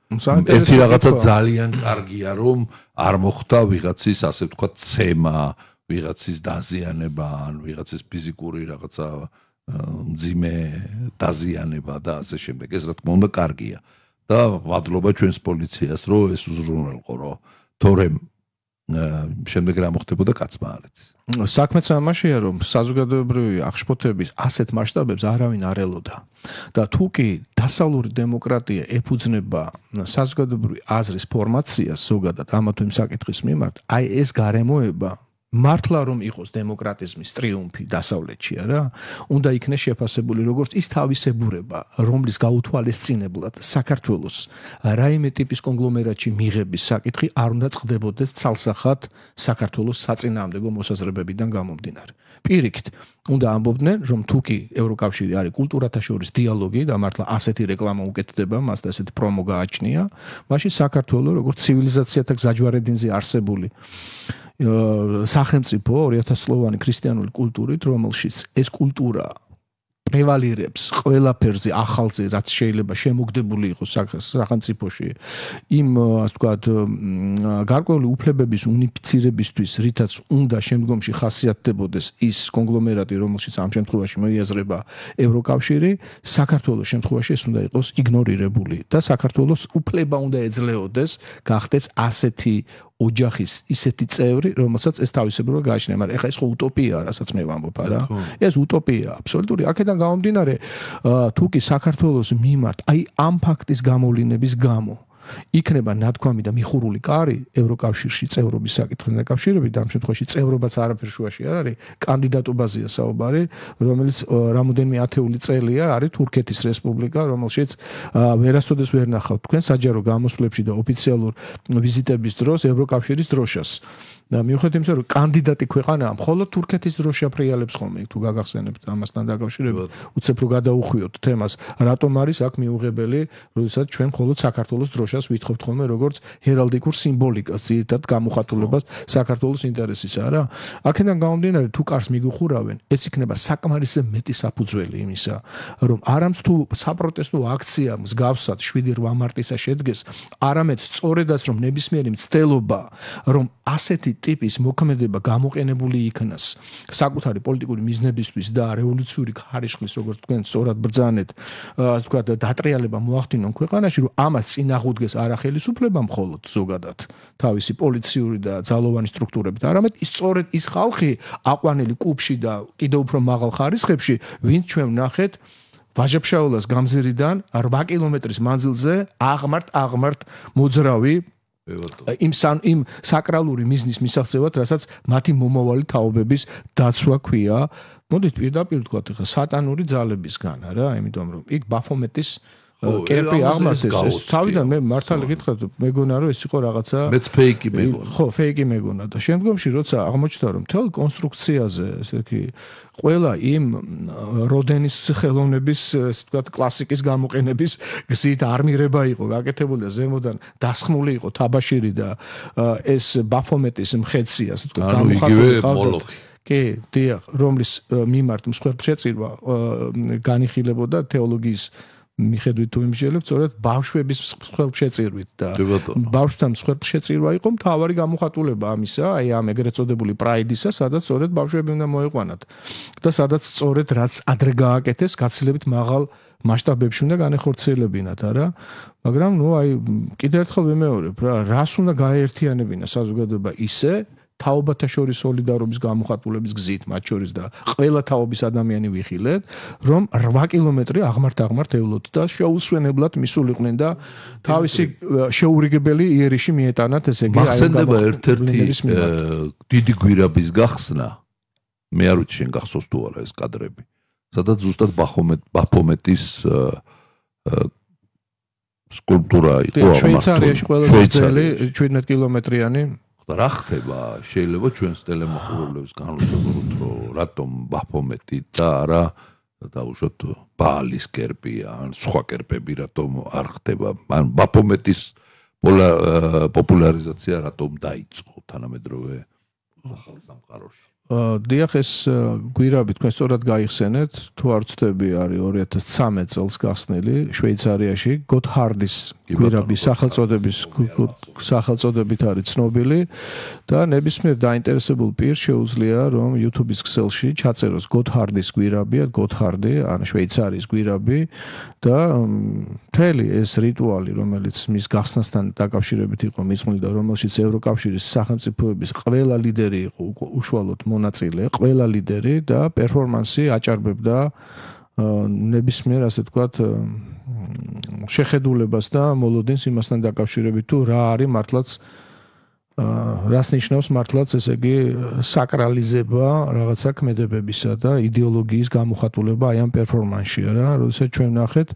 ერთი რაღაცა ძალიან კარგია, რომ არ მოხდა ვიღაცის ასე ვთქვათ ცემა, ვიღაცის დაზიანება, ან ვიღაცის ფიზიკური რაღაცა მძიმე დაზიანება და ასე შემდეგ. ეს რა თქმა უნდა კარგია. და ვადლობა ჩვენს პოლიციას, რომ ეს უზრუნველყო, რომ თორემ შემდეგ რა მოხდებოდა კაცმა არ იცის. საქმეც ამაშია, რომ საზოგადოებრივი აღშფოთების ასეთ მასშტაბებს არავინ არ ელოდა. და თუ კი დასავლური დემოკრატია ეფუძნება საზოგადოებრივი აზრის ფორმაციას ზოგადად ამა თუ იმ საკითხის მიმართ, აი ეს გარემოება მართლა რომ იყოს დემოკრატიზმის ტრიუმფი დასავლეთში, არა? უნდა იქნეს შეფასებული როგორც ის თავისებურება, რომლის გაუთვალისწინებლად საქართველოს რაიმე ტიპის კონგლომერატში მიღების საკითხი არ უნდა წყდებოდეს ცალსახად საქართველოს საწინააღმდეგო მოსაზრებებიდან გამომდინარე. პირიქით, უნდა ამბობდნენ, რომ თუ კი ევროკავშირი არის კულტურათა შორის დიალოგი და მართლა ასეთი რეკლამა უკეთდება, მას და ასეთი პრომო გააჩნია, მაშინ საქართველოს როგორც ცივილიზაციათა გზაჯვარედინზე არსებული სახელმწიფო ორი ათას წლოვანი ქრისტიანული კულტურით, რომელშიც ეს კულტურა პრევალირებს ყველაფერზე ახალზე, რაც შეიძლება შემოგდებული იყოს სახელმწიფოში, იმ ასე ვთქვათ გარკვეული უფლებების უნიფიცირებისთვის, რითაც უნდა შემდგომში ხასიათდებოდეს ის კონგლომერატი, რომელშიც ამ შემთხვევაში მოიაზრება ევროკავშირი, საქართველოს შემთხვევაში ეს უნდა იყოს იგნორირებული და საქართველოს უფლება უნდა ეძლეოდეს გახდეს ასეთი ოჯახის ისეთი წევრი, რომელსაც ეს თავისებურად გააჩნია, მაგრამ ეხლა ეს ხო утоპიაა, რასაც მე ვამბობ, არა? ეს утоპიაა, აბსოლუტური. აქედან გამომდინარე, თუ კი საქართველოს მიმართ, აი ამ ფაქტის გამოვლინების გამო იქნება ნათქვამი და მიხურული კარი ევროკავშირში წევრობის საკითხთან დაკავშირებით, ამ შემთხვევაში წევრობაც არაფერ შუაში არ არის, კანდიდატობაზეა საუბარი, რომელიც რამოდენიმე ათეული წელია არის თურქეთის რესპუბლიკა, რომელშიც ვერასოდეს ვერ ნახავთ თქვენ საჯარო გამოსვლებში და ოფიციალურ ვიზიტების დროს ევროკავშირის დროშას. და მიუხედავად იმისა, რომ კანდიდატი ქვეყანაა, მხოლოდ თურქეთის დროს შეფრიალებს ხოლმე, თუ გაგახსენებთ ამასთან დაკავშირებით, უცებ რო გადაუხვიოთ თემას, რატომ არის აქ მიუღებელი, როდესაც ჩვენ მხოლოდ საქართველოს დროშას ვითხოვთ ხოლმე როგორც ჰერალდიკურ სიმბოლიკას, ძირითად გამოხატულებას საქართველოს ინტერესისა, რა? აქედან გამომდინარე, თუ კარს მიგუხურავენ, ეს იქნება საკმარისზე მეტი საფუძველი იმისა, რომ არამც თუ საპროტესტო აქცია მსგავსად შვიდი რვა მარტისა შედგეს, არამედ სწორედაც რომ ნებისმიერი მცდელობა, რომ ასეთი ტიპის მოქმედება გამოყენებული იქნას საკუთარი პოლიტიკური მიზნებისთვის და რევოლუციური ხარისხის, როგორც თქვენ სწორად ბრძანეთ, ასე ვთქვათ, დატრიალება მოახდინონ ქვეყანაში, რომ ამას წინააღმდეგეს არა ხელისუფლება მხოლოდ ზოგადად თავისი პოლიციური და ძალოვანი სტრუქტურებით, არამედ ის სწორედ ის ხალხი აყვანილი კუბში და კიდევ უფრო მაღალ ხარისხებში, ვინც ჩვენ ვნახეთ ვაჟა-ფშაველას გამზირიდან რვა კილომეტრის მანძილზე აღმართ აღმართ მოძრავი იმ სან იმ საკრალური მიზნის მისაღწევად, რასაც მათი მომავალი თაობების დაცვა ქვია. მოდით პირდაპირ ვთქვათ, ხა სატანური ძალებისგან, რა, იმიტომ რომ იქ ბაფომეტის კერპი აღმართეს, ეს თავიდან მე მართალი გითხრათ, მეგონა რომ ეს იყო რაღაცა მეც ფეიკი მეგონა. ხო, ფეიკი მეგონა და შემდგომში როცა აღმოჩნდა რომ მთელ კონსტრუქციაზე, ესე იგი, ყველა იმ როდენის ხელოვნების, ასე ვთქვათ, კლასიკის გამოყენების გზით არმირება იყო გაკეთებული და ზემოდან დასხმული იყო თაბაშირი და ეს ბაფომეტის მხეცი, ასე ვთქვათ, გამოხატული ყავდა. კი, დიახ, რომლის მიმართ მსხვერპლშეწირვა განიხილებოდა თეოლოგიის მიხედვით თუ იმჟელებ, სწორედ ბავშვების მსხვერპლშეწირვით და ბავშვთან მსხვერპლშეწირვა იყო მთავარი გამოხატულება ამისა, აი ამ ეგრეთ წოდებული პრაიდისა, სადაც სწორედ ბავშვები უნდა მოეყვანათ და სადაც სწორედ რაც ადრე გააკეთეს, გაცილებით მაღალ მასშტაბებში უნდა განეხორციელებინათ, არა? მაგრამ ნუ აი კიდევ ერთხელ ვიმეორებ რა, რას უნდა გაეერთიანებინა საზოგადოება ისე თაობათა შორის სოლიდარობის გამოხატულების გზით, მათ შორის და ყველა თაობის ადამიანი ვიხილეთ, რომ რვა კილომეტრი აღმართ-აღმართ ევლოთ და შეუსვენებლად მისულიყვნენ და თავისი შეურიგებელი იერიში მიეტანათ, ესე იგი, აი მახსენდება ერთ-ერთი დიდი გვირაბის გახსნა. მე არ ვიცი შენ გახსოვს თუ არა ეს კადრები. სადაც ზუსტად ბაფომეტის სკულპტურა იყო ამართული. შვეიცარიაში ყველაზე ძველი შვიდმეტ კილომეტრიანი რა ხდება? შეიძლება ჩვენს ტელემოხურებლებს განვიხილოთ, რომ რატომ ბაფომეტი და არა დაუშვათ ბაალის კერპი ან სხვა კერპები რატომ არ ხდება? ან ბაფომეტის პოპულარიზაცია რატომ დაიწყო თანამედროვე ახალ სამყაროში? დიახ, ეს გვირაბი თქვენ სწორად გაიხსენეთ, თუ არ ვცდები, არის ორი ათას ცხრამეტ წელს გახსნილი შვეიცარიაში, გოთჰარდის გვირაბი სახელწოდების სახელწოდებით არის ცნობილი და ნებისმიერ დაინტერესებულ პირს შეუძლია, რომ YouTube-ის ქსელში ჩაწეროს გოთჰარდის გვირაბი, გოთჰარდი, ან შვეიცარიის გვირაბი და მთელი ეს რიტუალი, რომელიც მის გახსნასთან დაკავშირებით იყო მიწმული და რომელშიც ევროკავშირის სახელმწიფოების ყველა ლიდერი იყო უშუალოდ მონაწილე, ყველა ლიდერი და პერფორმანსი აჭარბებდა ნებისმიერ, ასე ვთქვათ, შეხედულებას და მოლოდინს იმასთან დაკავშირებით, თუ რა არის მართლაც რას ნიშნავს მართლაც, ესე იგი, საკრალიზება რაღაცა ქმედებებისა და იდეოლოგიის გამოხატულება აი ამ პერფორმანსში, რა, როდესაც ჩვენ ვნახეთ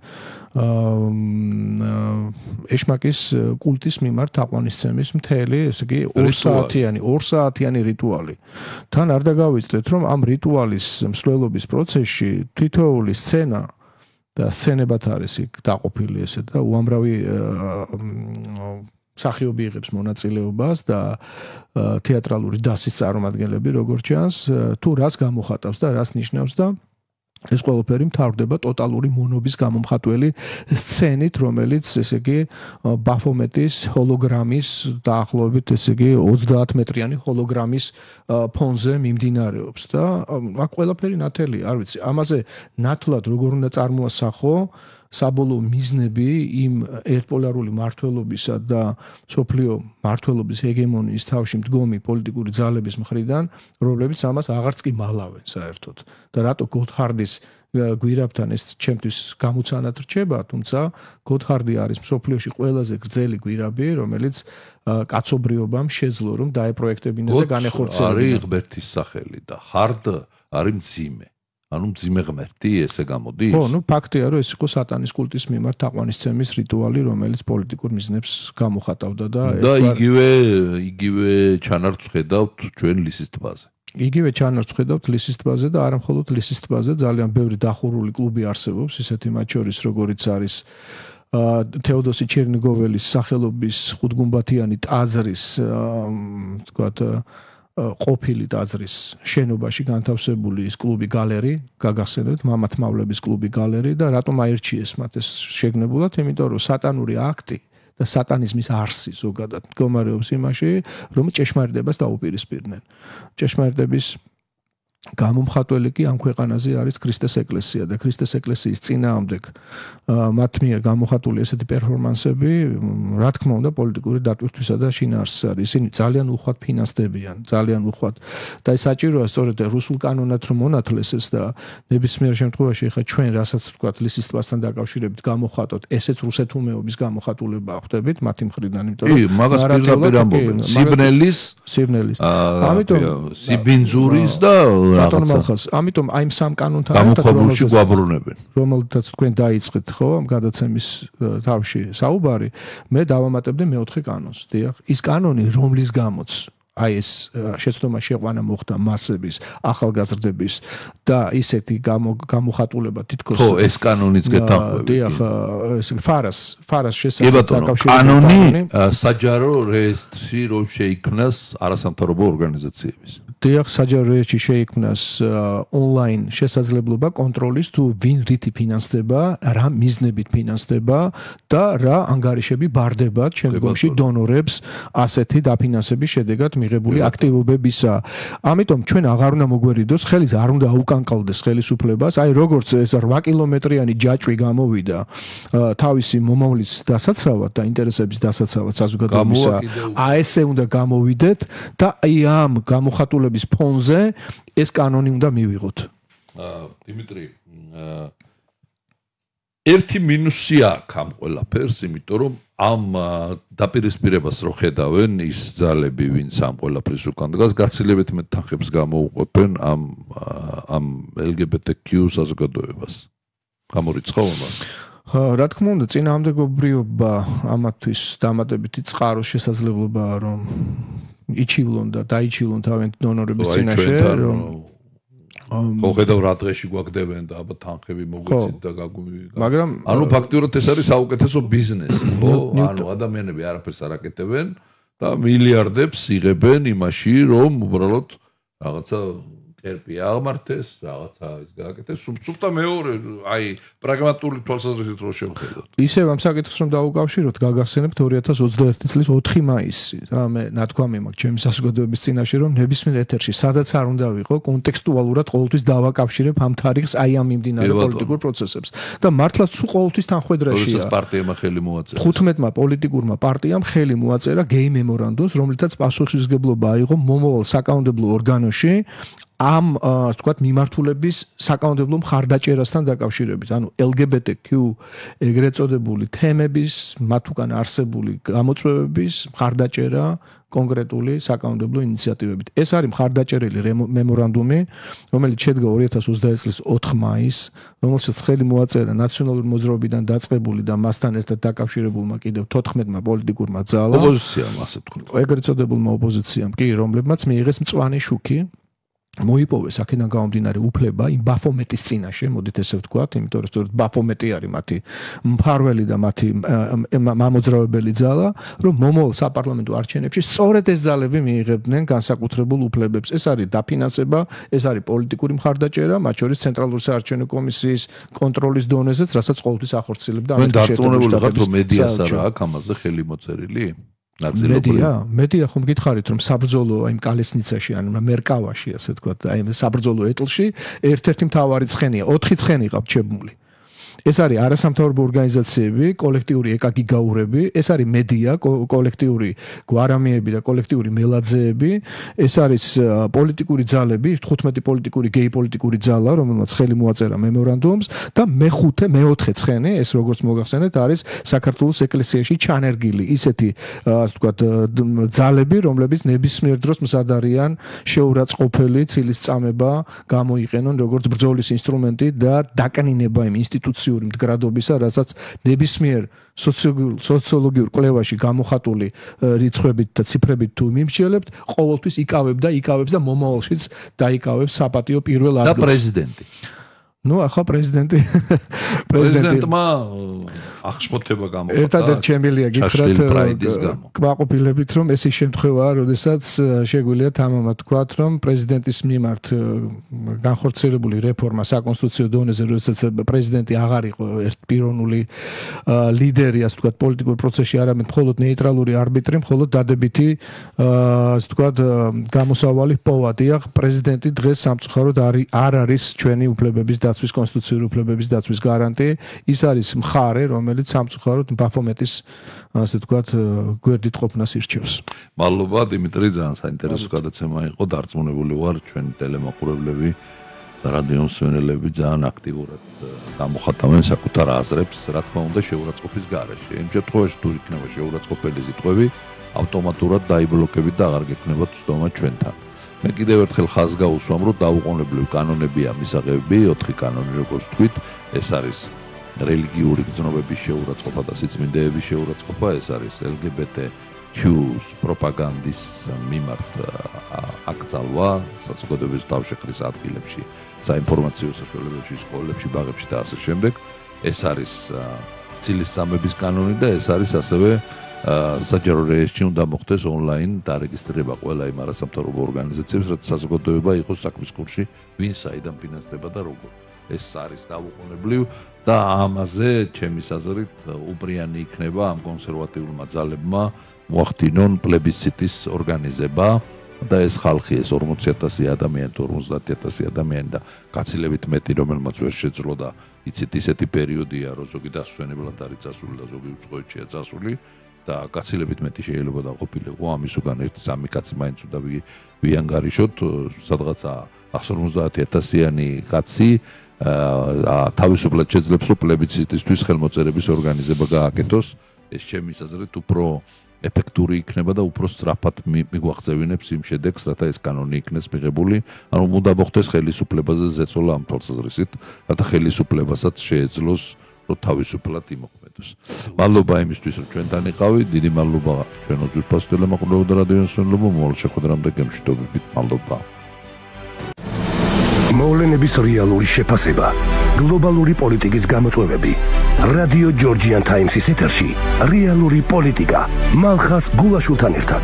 ეშმაკის კულტის მიმართ თაყვანისცემის მთელი, ესე იგი, ორ საათიანი, ორ საათიანი რიტუალი. თან არ დაგავიწყდეთ, რომ ამ რიტუალის მსვლელობის პროცესში თითოეული სცენა და სცენებად არის იქ დაყოფილი ესე და უამრავი მსახიობი იღებს მონაწილეობას და თეატრალური დასის წარმომადგენლები, როგორც ჩანს, თუ რას გამოხატავს და რას ნიშნავს და ეს ყველაფერი მთავრდება ტოტალური მონობის გამომხატველი სცენით, რომელიც, ესე იგი, ბაფომეტის ჰოლოგრამის დაახლოებით, ესე იგი, ოცდაათ მეტრიანი ჰოლოგრამის ფონზე მიმდინარეობს და აქ ყველაფერი ნათელი, არ ვიცი, ამაზე ნათლად როგორ უნდა წარმოასახო საბოლოო მიზნები იმ ერთპოლარული მართლობისა და სოფლიო მართლობის ჰეგემონიის თავში მდგომი პოლიტიკური ძალების მხრიდან, რომლებიც ამას აღარც კი მალავენ საერთოდ. და რატო გოთჰარდის გვირაბთან ეს ჩემთვის გამოცანად რჩება, თუმცა გოთჰარდი არის მსოფლიოში ყველაზე გრძელი გვირაბი, რომელიც კაცობრიობამ შეძლო რომ დაეპროექტებინა და განეხორციელებინა. არის ღმერთის სახელი და ჰარდ არის მძიმე. ანუ მძიმე ღმერთი ესე გამოდის? ხო, ნუ ფაქტია, რომ ეს იყო სატანის კულტის მიმართ თაყვანისცემის რიტუალი, რომელიც პოლიტიკურ მიზნებს გამოხატავდა და და იგივე იგივე ჩანართს ხედავთ ჩვენ ლისის ტბაზე. იგივე ჩანართს ხედავთ ლისის ტბაზე და არა მხოლოდ ლისის ტბაზე, ძალიან ბევრი დახურული კლუბი არსებობს, ისეთი მათ შორის როგორიც არის თეოდოსი ჩერნიგოველის სახელობის ხუთგუმბათიანი ტაძრის, თქვათ, ყოფილი ტაძრის შენობაში განთავსებული ის კლუბი გალერი, გაგახსენებთ, მამათ მავლების კლუბი გალერი და რატომ აირჩიეს მათ ეს შეგნებულად, იმიტომ რომ სატანური აქტი და სატანიზმის არსი ზოგადად მდგომარეობს იმაში, რომ ჭეშმარიტებას დაუპირისპირდნენ. ჭეშმარიტების გამომხატველი კი ამ ქვეყანაზე არის ქრისტეს ეკლესია და ქრისტეს ეკლესიის წინააღმდეგ მათ მიერ გამოხატული ესეთი პერფორმანსები, რა თქმა უნდა, პოლიტიკური დატვირთვისა და შინაარსის არის. ისინი ძალიან უხვად ფინანსდებიან, ძალიან უხვად. და ეს საჭიროა სწორედ რუსულ კანონად რომ მონათლეს ეს და ნებისმიერ შემთხვევაში ხა ჩვენ რასაც ვთქვათ ლისის ტბასთან დაკავშირებით გამოხატოთ, ესეც რუსეთუმეობის გამოხატულება ხვდებით მათი მხრიდან, იმიტომ რომ კი, მაგას პირდაპირ ამბობენ. სიბნელის, სიბნელის. ამიტომ სიბინძურის და ბატონ მალხას, ამიტომ აი ამ სამ კანონთან გამოქვაბულში გვაბრუნებენ. რომელთაც თქვენ დაიწყეთ, ხო, ამ გადაცემის თავში საუბარი, მე დავამატებდი მეოთხე კანონს, დიახ. ის კანონი, რომლის გამოც აი ეს შეცდომა შეყვანა მოხდა მასების, ახალგაზრდების და ისეთი გამოხატულება თითქოს ხო, ეს კანონიც გეთანხმებით. დიახ, ეს ფარას, ფარას შესაძლებლად დაკავშირებული კანონი საჯარო რეესტრში რომ შეიქმნას არასამთავრობო ორგანიზაციების. დიახ, საჯარო რეესტრში შეიქმნას ონლაინ შესაძლებლობა კონტროლის თუ ვინ რითი ფინანსდება, რა მიზნებით ფინანსდება და რა ანგარიშები ბარდებათ შემდგომში დონორებს ასეთი დაფინანსების შედეგად მიღებული აქტივობებისა. ამიტომ ჩვენ აღარ უნდა მოგვერიდოს, ხელის არ უნდა აუკანკალდეს ხელისუფლებას, აი როგორც ეს რვა კილომეტრიანი ჯაჭვი გამოვიდა თავისი მომავლის დასაცავად და ინტერესების დასაცავად საზოგადოებისა, აი ესე უნდა გამოვიდეთ და აი ამ გამოხატულების ფონზე ეს კანონი უნდა მივიღოთ. დიმიტრი, ერთი მინუსი აქვს ამ ყველაფერს, იმიტომ რომ ამ დაპირისპირებას რო ხედავენ ის ძალები, ვინც ამ ყველაფრის უკან დგას, გაცილებით მეტ თანხებს გამოუყოფენ ამ ამ ელ გი ბი ტი კიუ საზოგადოებას. გამორიცხავ ამას? რა თქმა უნდა, წინააღმდეგობრიობა ამათთვის დამატებითი წყაროს შესაძლებლობაა, რომ იჩივლონ და დაიჩივლონ თავიანთი დონორების წინაშე, რომ ხო ხედავ რა დღეში გვაგდებენ და აბა თანხები მოგვეცით და გაგვი მაგრამ ანუ ფაქტიურად ეს არის საუკეთესო ბიზნესი, ხო? ანუ ადამიანები არაფერს არ აკეთებენ და მილიარდებს იღებენ იმაში, რომ უბრალოდ რაღაცა კერპი აღმართეს, რაღაცა ის გააკეთეს, სულწუხდა მეორე, აი, პრაგმატული თვალსაზრისით რო შევხედოთ. ისევ ამ საკითხს რომ დაუკავშიროთ, გაგახსენებთ ორი ათას ოცდაერთი წლის ოთხი მაისი. და მე ნათქვამი მაქვს ჩემი საზოგადოების წინაშე, რომ ნებისმიერ ეთერში, სადაც არ უნდა ვიყო, კონტექსტუალურად ყოველთვის დავაკავშირებ ამ თარიღს, აი ამ მიმდინარე პოლიტიკურ პროცესებს. და მართლაც სულ ყოველთვის თანხwebdriverშია. როდესაც პარტიამ ხელი მოაწერა. თხუთმეტმა პოლიტიკურმა პარტიამ ხელი მოაწერა გეი მემორანდუმს, რომლითაც პასუხისმგებლობა აიღო მომავალ საკანონმდებლო ორგანოში ამ თქვათ მიმართულების საკანონმდებლო მხარდაჭერასთან დაკავშირებით, ანუ ელ გი ბი ტი კიუ ეგრეთ წოდებული თემების, მათ უკან არსებული გამოწვევების მხარდაჭერა კონკრეტული საკანონმდებლო ინიციატივებით. ეს არის მხარდაჭერილი მემორანდუმი, რომელიც შედგა ორი ათას ოცდაერთი წლის ოთხი მაისს, რომელსაც ხელი მოაწერა ნაციონალური მოძრაობიდან დაწყებული და მასთან ერთად დაკავშირებულმა კიდევ თოთხმეტმა პოლიტიკურმა ძალამ, ოპოზიციამ, ასე ვთქვათ. ეგრეთ წოდებულმა ოპოზიციამ, კი, რომლებმაც მიიღეს მწვანე შუქი მოიპოვეს აქედან გამომდინარე უფლება იმ ბაფომეტის წინაშე, მოდით ესე ვთქვათ, იმიტომ რომ სწორედ ბაფომეტი არის მათი მფარველი და მათი მამოძრავებელი ძალა, რომ მომავალ საპარლამენტო არჩევნებში სწორედ ეს ძალები მიიღებდნენ განსაკუთრებულ უფლებებს. ეს არის დაფინანსება, ეს არის პოლიტიკური მხარდაჭერა, მათ შორის ცენტრალური საარჩევნო კომისიის კონტროლის დონეზეც, რასაც ყოველთვის ახორციელებდა ამერიკის შეერთებული შტატების მედიას არა აქვს ამაზე ხელი მოწერილი? მედია, მედია ხომ გითხარით რომ საბრძოლო აი კალესნიცაში ან მერკავაში ასე თქვა, აი საბრძოლო ეტლში ერთ-ერთი მთავარი ცხენია, ოთხი ცხენი ყავთ ჩებმული. ეს არის არასამთავრობო ორგანიზაციები, კოლექტიური ეკაგიგაურები, ეს არის მედია, კოლექტიური გვარამიები და კოლექტიური მელაძეები, ეს არის პოლიტიკური ძალები, თხუთმეტი პოლიტიკური გეი პოლიტიკური ძალა, რომელმაც ხელი მოაწერა მემორანდუმს და მეხუთე, მეოთხე ცხენი, ეს როგორც მოგახსენეთ, არის საქართველოს ეკლესიაში ჩანერგილი ისეთი, ასე ვთქვათ, ძალები, რომლებიც ნებისმიერ დროს მზად არიან შეურაცხყოფელი ცილისწამება გამოიყენონ როგორც ბრძოლის ინსტრუმენტი და დაკნინება იმ ინსტიტუციური მდგრადობისა, რასაც ნებისმიერ სოციოლოგიურ კვლევაში გამოხატული რიცხვებით და ციფრებით თუ მიმსჯელებთ, ყოველთვის იკავებდა, იკავებს და მომავალშიც დაიკავებს საპატიო პირველ ადგილს. და პრეზიდენტი. ნუ ახლა პრეზიდენტი პრეზიდენტმა აღშფოთება გამოხატა. ერთადერთ შემიძლია გითხრათ კმაყოფილებით, რომ ეს ის შემთხვევაა, როდესაც შეგვიძლია თამამად თქვათ, რომ პრეზიდენტის მიმართ განხორციელებული რეფორმა საკონსტიტუციო დონეზე, როდესაც პრეზიდენტი აღარ იყო ერთპიროვნული ლიდერი, ასე ვთქვათ, პოლიტიკურ პროცესში, არამედ მხოლოდ ნეიტრალური არბიტრი, მხოლოდ დადებითი, ასე ვთქვათ, გამოსავალი პოვა. დიახ, პრეზიდენტი დღეს სამწუხაროდ არ არის ჩვენი უფლებების დაცვის კონსტიტუციური უფლებების დაცვის გარანტი. ის არის მხარე, რომელიც სამწუხაროდ ბაფომეტის, ასე ვთქვათ, გვერდით ყოფნას ირჩევს. მადლობა, დიმიტრი, ძალიან საინტერესო გადაცემა იყო. დარწმუნებული ვარ, ჩვენი ტელემაყურებლები და რადიო მსმენელები ძალიან აქტიურად გამოხატავენ საკუთარ აზრებს, რა თქმა უნდა, შეურაცხყოფის გარეშე. იმ შემთხვევაში, თუ იქნება შეურაცხყოფელი სიტყვები, ავტომატურად დაიბლოკებით და აღარ გექნება ცდომა ჩვენთან. მე კიდევ ერთხელ ხაზს გაუსვამ, რომ დაუყოვნებლივ კანონებია მისაღები, ოთხი კანონი, როგორც თქვით, ეს არის რელიგიური გრძნობების შეურაცხყოფა და სიწმინდეების შეურაცხყოფა, ეს არის ელ გი ბი ტი კიუს პროპაგანდის მიმართ აკრძალვა საზოგადოების თავშეყრის ადგილებში, საინფორმაციო საშუალებებში, სკოლებში, ბაღებში და ასე შემდეგ. ეს არის ცილისწამების კანონი და ეს არის ასევე საჯარო რეესტრში უნდა მოხდეს ონლაინ დარეგისტრირება ყველა იმ არასამთავრობო ორგანიზაციებს, რაც საზოგადოება იყოს საქმის კურსში, ვინ საიდან ფინანსდება და როგორ. ეს არის დაუყოვნებლივ და ამაზე, ჩემის აზრით, უპრიანი იქნება ამ კონსერვატიულმა ძალებმა მოახდინონ პლებისციტის ორგანიზება და ეს ხალხი, ეს ორმოცი ათასი ადამიანი, ორმოცდაათი ათასი ადამიანი და გაცილებით მეტი, რომელმაც ვერ შეძლო და იცით, ისეთი პერიოდია, რომ ზოგი დასვენებლად არის წასული და ზოგი უწყოეთშია წასული. და გაცილებით მეტი შეიძლება დაყოფილიყო ამის უკან ერთი სამი კაცი მაინც უნდა ვიანგარიშოთ სადღაცა εκατს ორმოცდაათი ათასიანი კაცი თავისუფლად შეძლებს რომ პლებისციტისთვის ხელმოწერების ორგანიზება გააკეთოს ეს ჩემის აზრით უფრო ეფექტური იქნება და უფრო სწრაფად მიგვაღწევინებს იმ შედეგს რათა ეს კანონი იქნეს მიღებული ანუ უნდა მოხდეს ხელისუფლებაზე ზეწოლა ამ თვალსაზრისით რათა ხელისუფლებასაც შეეძლოს თავისუფლად იმოქმედოს. მადლობა იმისთვის, რომ ჩვენთან იყავით. დიდი მადლობა ჩვენო ძვირფას ტელემაყურებელთა და რადიო მსმენელებო. მოვალ შეხვედრამდე გემშვიდობებით. მადლობა. მოვლენების რეალური შეფასება, გლობალური პოლიტიკის გამოწვევები. რადიო ჯორჯიან ტაიმსის ეთერში რეალური პოლიტიკა. მალხას გულაშვილთან ერთად.